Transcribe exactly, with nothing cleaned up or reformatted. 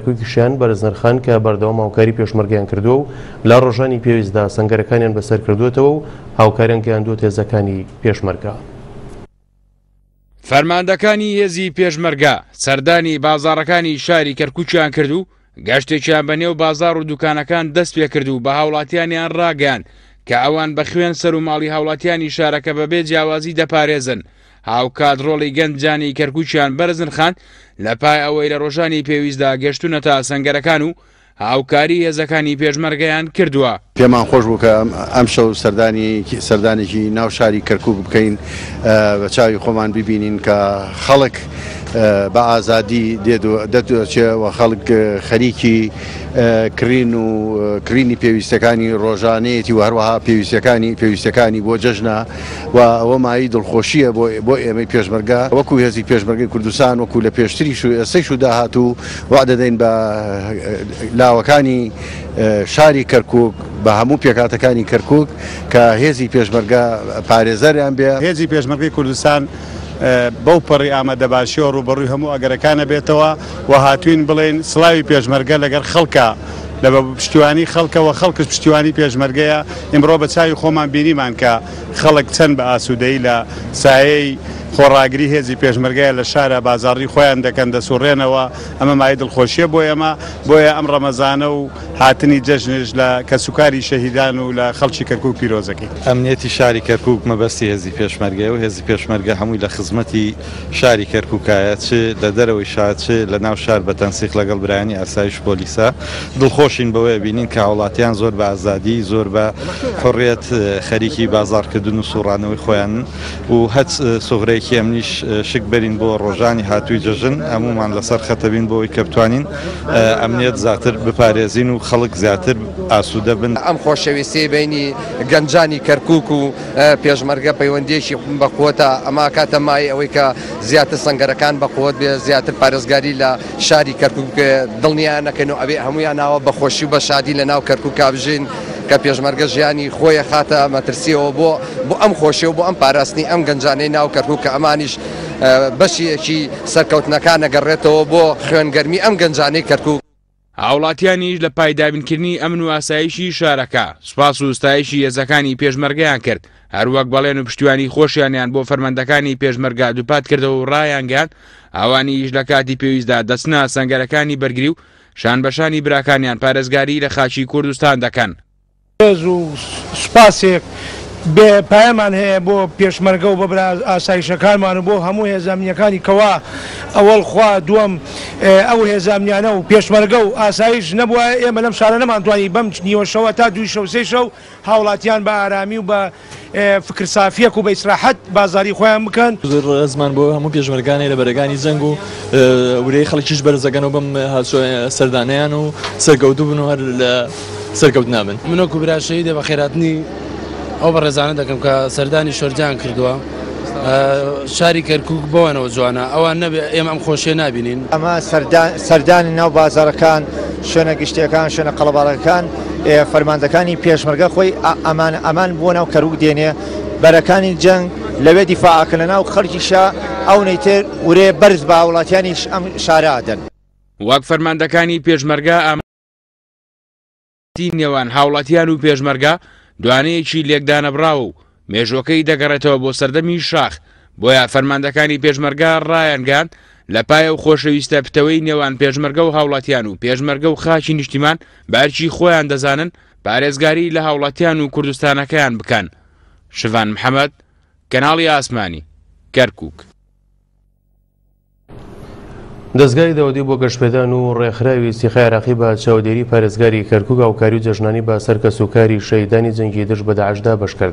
کەرکووکیشیان بەرز نرخاند کە بەردەوام هاوکاری پێشمەرگەیان کردووە و لە ڕۆژانی پێویستدا سەنگەرەکانیان بەسەر کردووەتەوە و هاوکاریان گەیاندووەتە هێزەکانی پێشمەرگە. فەرماندەکانی هێزی پێشمەرگە سەردانی بازاڕەکانی شاری کەرکووکیان کرد و گەشتێکیان بە نێو بازاڕ و دوکانەکان دەست پێ کرد و بە هاوڵاتیانیان ڕاگەیاند کە ئەوان بە خوێن سەر و ماڵی هاوڵاتیانی شارەکە بەبێ جیاوازی دەپارێزن. هاوکات ڕۆڵی گەنجانی کەرکووکیان بەرز نرخاند لە پای ئەوەی لە ڕۆژانی پێویستدا گەشتونەتە سەنگەرەکان و هاوکاری هێزەکانی پێشمەرگەیان کردووە. پێمان خۆش بوو کە ئەمشەو سەردانی سەردانێکی ناو شاری کەرکووک بکەین، بە چاوی خۆمان ببینین کە خەڵک بە ئازادی دێت و دەچێ و خەڵک خەریکی کڕین و کڕینی پێویستەکانی ڕۆژانەیەتی و هەروەها پێویستەکانی پێویستەکانی بۆ جەژنە و ئەوە مایەی دڵخۆشییە بۆ بۆ ئێمەی پێشمەرگە وەکو هێزی پێشمەرگەی کوردستان وەکو لە پێشتریش و ئێستەیش و داهاتوو وعدە دەین بە لاوەکانی شاری کەرکووک بە هەموو پێکهاتەکانی کەرکووک کە هێزی پێشمەرگە پارێزەریان بێ. هێزی پێشمەرگەی کوردستان بەو پەڕی ئامادەباشیەوە ڕووبەڕووی هەموو ئەگەرەکانە بێتەوە و هاتوین بڵێن سڵاوی پێشمەرگە لەگەر خەڵکە لە بە پشتیوانی خەڵکەوە خەڵکش پشتیوانی پێشمەرگەیە. ئیمڕۆ بە چاوی خۆمان بینیمان کە خەڵک چەند بە ئاسوودەیی لە سایەی خۆڕاگری هێزی پێشمەرگەیە لە شارە بازاڕی خۆیان دەکەن دەسوڕێنەوە. ئەمە مایەی دڵخۆشیە بۆ ئێمە، بۆیە ئەم ڕەمەزانە و هاتنی جەژنش لە کەسوکاری شەهیدان و لە خەڵکی کەرکوک پیرۆزەکەی. ئەمنیەتی شاری کەرکوک مەبەستی هێزی پێشمەرگەیە و هێزی پێشمەرگە هەمووی لە خزمەتی شاری کەرکوکایە، چ لە دەرەوەی شار چ لە ناو شار بە تەنسیق لەگەڵ برایانی ئاسایش پۆلیسە. دڵخۆشین بەوەیە بینین کە هاوڵاتیان زۆر بە ئازادی زۆر بە حڕیەت خەریکی بازاڕکردن و سوڕانەوەی خۆیانن و هەچ سوغرەیەکی ئەمنیش شک بەرین بۆ ڕۆژانی هاتووی جەژن هەمومان لەسەر خەتەبین بۆ ئەوەی کە بتوانین ئەمنیەت زیاتر بپارێزین و خەڵک زیاتر ئاسوودە بن. ئەم خۆشەویستی بینی گەنجانی کەرکوک و پێشمەرگە پەیوەندیەکی بە قووەتە، ئەما کاتە مای ئەوەی کە زیاتر سەنگەرەکان بە قووەت بێ، زیاتر پارێزگاری لە شاری کەرکوک بکرێ. دڵنیان نەکەن و ئەبێ هەمویان ناوە بە خۆشی و بە شادی لە ناو کەرکوک بژین کە پێشمەرگە ژیانی خۆی خاتە مەترسیەوە بۆ بۆ ئەم خۆشی و بۆ ئەم پاراستنی ئەم گەنجانەی ناو کەرکوک کە ئەمانیش بەشیەکی سەرکەوتنەکان نەگەڕێتەوە بۆ خوێنگەرمی ئەم گەنجانەی کەرکوک. هاوڵاتیانیش لە پایدابینکردنی ئەمن و ئاسایشی شارەکە سوپاس و ستایشی هێزەکانی پێشمەرگەیان کرد، هەروەک بەڵێن و پشتیوانی خۆشیانیان بۆ فەرماندەکانی پێشمەرگە دووپات کردەوە و ڕایانگەیاند ئەوانیش لە کاتی پێویستدا دەچنە سەنگەرەکانی بەرگری و شانبەشانی براکانیان پارێزگاری لە خاکی کوردستان دەکەن. ڕێز و سوپاسێک بێ پایەمان هەیە بۆ پێشمەرگە و بە برا ئاسایشەکانمان و بۆ هەموو هێزامنیەکانی کەوا ئەوەڵ خوا دووەم ئەو هێزامنیانە و پێشمەرگە و ئاسایش نەبووە ئێمە لەم شارە نەمانتوانی بەم نیوە شەوە تا دووی شەو سێ شەو هاوڵاتیان بە ئارامی و بە فکر سافیەک و بە ئیسراحەت بازاری خۆیان بکەن. زۆر ڕێزمان بۆ هەموو پێشمەرگانەی لە بەرەکانی جەنگ و ورەی خەڵکیش بەرزەکەن و بەم سەردانەیان و سەرکەوتوو بن و هەر لە سەرکەوت نابن. من وەکو برا شەهیدە بە خێراتنی ئەو بەڕێزانە دەکەم کە سەردانی شۆرجان کردووە. شاری کەرکوک بەوانەوە جوانە، ئەوان نەبێ ئێمە ئەم خۆشیە نابینین. ئەمە سەردانی ناو بازارەکان، شوێنە گشتیەکان، شوێنە قەڵەباڵەکان، فەرماندەکانی پێشمەرگە خۆی ئەمان ئەمان بۆ ناو کەرکوک دێنێ، بەرەکانی جەنگ لەوێ دیفاعەکەن لە ناو خەڵکیشە ئەو نەیتر ورێ بەرز بە هاوڵاتیانیش ئەم شارە ئەدەن. وەک فەرماندەکانی پێشمەرگە ئامادەی نێوان هاوڵاتیان و پێشمەرگە دوانەیەکی لێکدانەبراوە و مێژوەکەی دەگەڕێتەوە بۆ سەردەمی شاخ، بۆیە فەرماندەکانی پێشمەرگە ڕایانگەیاند لە پایە و خۆشەویستە پتەوەی نێوان پێشمەرگە و هاوڵاتیان و پێشمەرگە و خاکی نیشتیمان بەرکی خۆیان دەزانن پارێزگاری لە هاوڵاتیان و کوردستانەکەیان بکەن. شڤان محەممەد، کەناڵی ئاسمانی، کەرکوک. دەستگای دەوەدی بۆ گەشتپێدان و ڕێکخراوی سیخای عێراقی بە چاودێری پارێزگاری کەرکوک هاوکاری و جەژنانی بە سەر کەسوکاری شەهیدانی جەنگی دژ بە داعشدا بەش کرد.